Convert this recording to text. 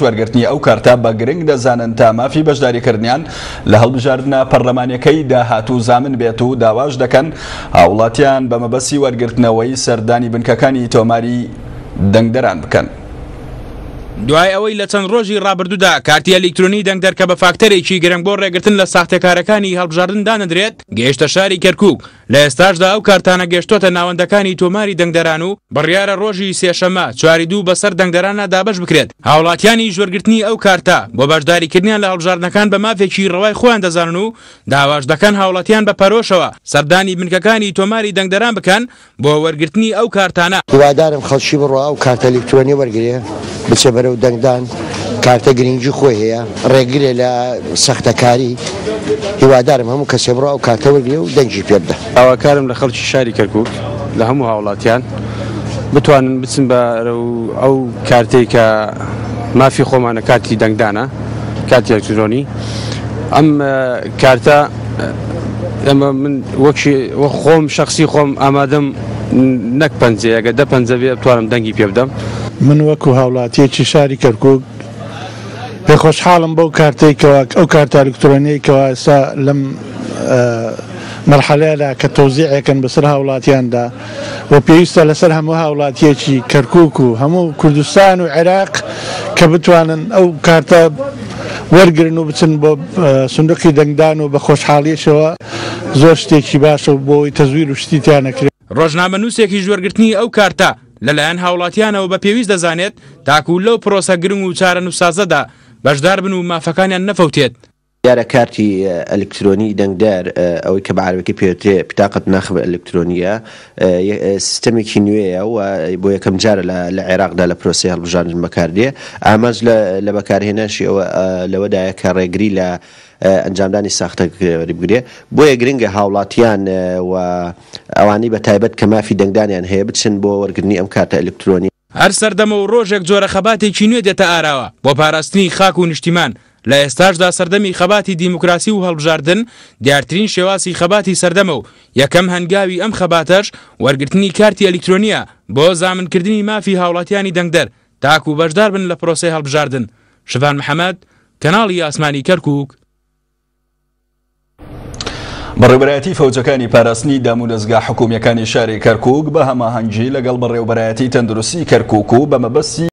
وەرگرتنی ئەو کارتە بە گرنگ دەزانن تا مافی بەشداریکردنیان لە هەڵبژاردنە پەرلەمانیەکەی داهاتوو زامن بێت و داواش دەکەن هاوڵاتیان بە مەبەستی وەرگرتنەوەی سەردانی بنکەکانی تۆماری دەنگدەران بکەن. دوای ئەوەی لە چەند ڕۆژی ڕابردوودا کارتی ئەلیکترۆنی دەنگدەر کە بە فاکتەرێکی گرنگ بۆ ڕێگرتن لە ساختەکارەکانی هەڵبژاردن دانەدرێت، گەیشتە شاری کەرکووک، لە ئێستاشدا ئەو کارتانە گەشتۆتە ناوەندەکانی تۆماری دەنگدەران و بڕیارە ڕۆژی سێشەممە چواری دوو بەسەر دەنگدەراندا دابەش بکرێت. هاوڵاتیانیش وەرگرتنی ئەو کارتە بۆ بەشداریکردنیان لە هەڵبژاردنەکان بە مافێکی ڕەوای خۆیان دەزانن و داواش دەکەن هاوڵاتیان بە پەرۆشەوە سەردانی بنکەکانی تۆماری دەنگدەران بکەن بۆ وەرگرتنی ئەو کارتانە. هیوادارم خەڵکی بڕوا ئەو کارتە ئەلیکترۆنیە وەرگرێ بچێ بەرەو دەنگدان، کارتە گرنگی خۆی هەیە ڕێگرێ لە سەختەکاری، هیوادارم هەموو کەسێ بڕوا ئەو کارتە وەرگرێ و دەنگی پێ بدا. داواکارم لە خەڵکی شاری کەرکوک لە هەموو هاوڵاتیان بتوانن بچن بەرەو ئەو کارتەی کە مافی خۆمانە کارتی دەنگدانە کارتی ئەلکترۆنی ئەم کارتە ئێمە من وەکی وەک خۆم شەخسی خۆم ئامادەم نەک پەنجەیە گەر دە پەنجە بێ بتوانم دەنگی پێ بدەم. من وەکو هاوڵاتیەکی شاری کەرکوک پێ خۆشحاڵم بەو کارتەی کەوا ئەو کارتە ئەلکترۆنیەی کەوا ئێستا لەم مەرحەلەیەدا کە تەوزیعێکن بەسەر هاوڵاتیاندا و پێویستە لەسەر هەموو هاوڵاتیەکی کەرکوک و هەموو کوردستان و عێراق کە بتوانن ئەو کارتە وەرگرن و بچن بۆ سندوقی دەنگدان و بە خۆشحاڵیەشەوە زۆر شتێکی باشە و بۆ ئەوەی تەزویر و شتی تیا نەکرێت. ڕۆژنامەنووسێکیش وەرگرتنی ئەو کارتە لەلایەن هاوڵاتیانەوە بە پێویست دەزانێت تاکو لەو پرۆسە گرنگ و چارەنووسسازەدا بەشداربن و مافەکانیان نەفەوتێت. دیارە کارتی ئەلکترۆنی دەنگدەر، ئەوەی کە بە عەرەبیەکەی پێوترێ بطاقە ناخب الکترونیە، سیستەمێکی نوێیە و بۆ یەکەم جارە لە عێراقدا لە پرۆسەی هەڵبژاردن بەکاردێ. ئامانج لە بەکارهێنانشی ئەوە لەوەدایە کە ڕێگری لە ئەنجامدانی ساختەکاری بگرێ. بۆیە گرنگە هاوڵاتیان و ئەوانەی بە تایبەت کە مافی دەنگدانیان هەیە بچن بۆ وەرگرتنی ئەم کارتە ئەلکترۆنیە. هەر سەردەمە و ڕۆژێک جۆرە خەباتێکی نوێ دێتە ئاراوە بۆ پاراستنی خاک و نیشتیمان، لە ئێستاشدا سەردەمی خەباتی دیموکراسی و هەڵبژاردن دیارترین شێوازی خەباتی سەردەمە و یەکەم هەنگاوی ئەم خەباتەش وەرگرتنی کارتی ئەلیکترۆنییە بۆ زامنکردنی مافی هاوڵاتیانی دەنگدەر تاکو بەشداربن لە پرۆسەی هەڵبژاردن. شڤان محەمەد، کەناڵی ئاسمانی کەرکوک. بەڕێوبەرایەتی فەوجەکانی پاراستنی دامودەزگا حکومییەکانی شاری کەرکوک بە هەماهەنگی لەگەڵ بەڕێوبەرایەتی تەندروستی کەرکوک و بە مەبەستی.